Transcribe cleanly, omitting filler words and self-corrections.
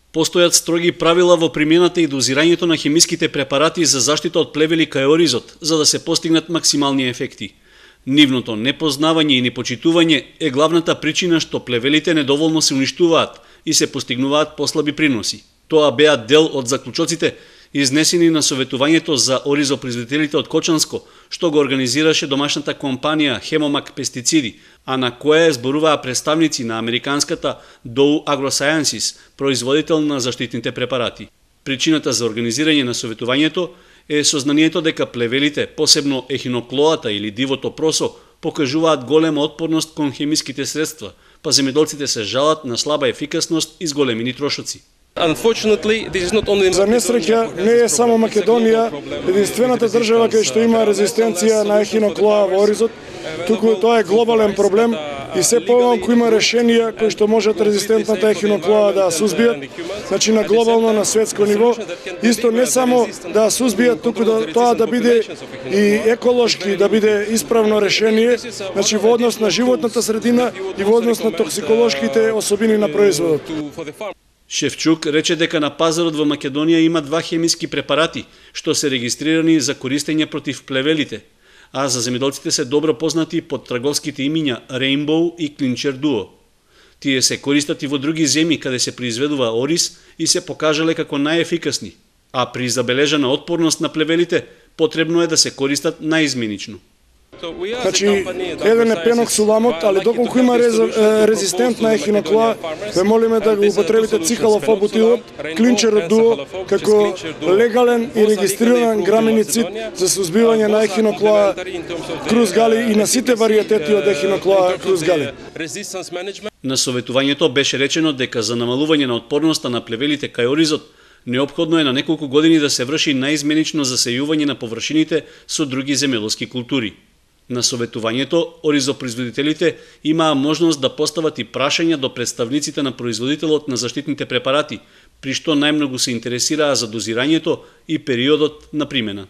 Постојат строги правила во примената и дозирањето на хемиските препарати за заштита од плевели кај оризот, за да се постигнат максимални ефекти. Нивното непознавање и непочитување е главната причина што плевелите недоволно се уништуваат и се постигнуваат послаби приноси. Тоа беа дел од заклучоците изнесени на советувањето за оризопроизводителите од Кочанско, што го организираше домашната компанија Хемомак Пестициди, а на која зборуваа представници на американската Dow AgroSciences, производител на заштитните препарати. Причината за организирање на советувањето е сознанието дека плевелите, посебно ехиноклоата или дивото просо, покажуваат голема отпорност кон хемиските средства, па земјоделците се жалат на слаба ефикасност и зголемени трошоци. За несреќа, не е само Македонија единствената држава кај што има резистенција на ехиноклоа во оризот, туку тоа е глобален проблем и се помалку има решенија кои што можат резистентната ехиноклоа да сузбијат, значи на глобално, на светско ниво, исто не само да сузбијат, туку тоа да биде и еколошки, да биде исправно решение, значи во однос на животната средина и во однос на токсиколошките особини на производот. Шефчук рече дека на пазарот во Македонија има 2 хемиски препарати што се регистрирани за користење против плевелите, а за земјоделците се добро познати под трговските имиња Rainbow и Clincher Duo. Тие се користат и во други земји каде се произведува ориз и се покажале како најефикасни, а при забележана отпорност на плевелите потребно е да се користат наизменично. Значи, еден е пеноксуламот, али доколку има резистентна ехиноклоа, ве молиме да го употребите цихалофобутилот, Clincher Duo, како легален и регистриран граминицид за сузбивање на ехиноклоа крузгали и на сите варијатети од ехиноклоа крузгали. На советувањето беше речено дека за намалување на отпорноста на плевелите кај оризот, неопходно е на неколку години да се врши наизменично засејување на површините со други земјоделски култури. На советувањето, оризопроизводителите имаа можност да постават и прашања до представниците на производителот на заштитните препарати, при што најмногу се интересираа за дозирањето и периодот на примена.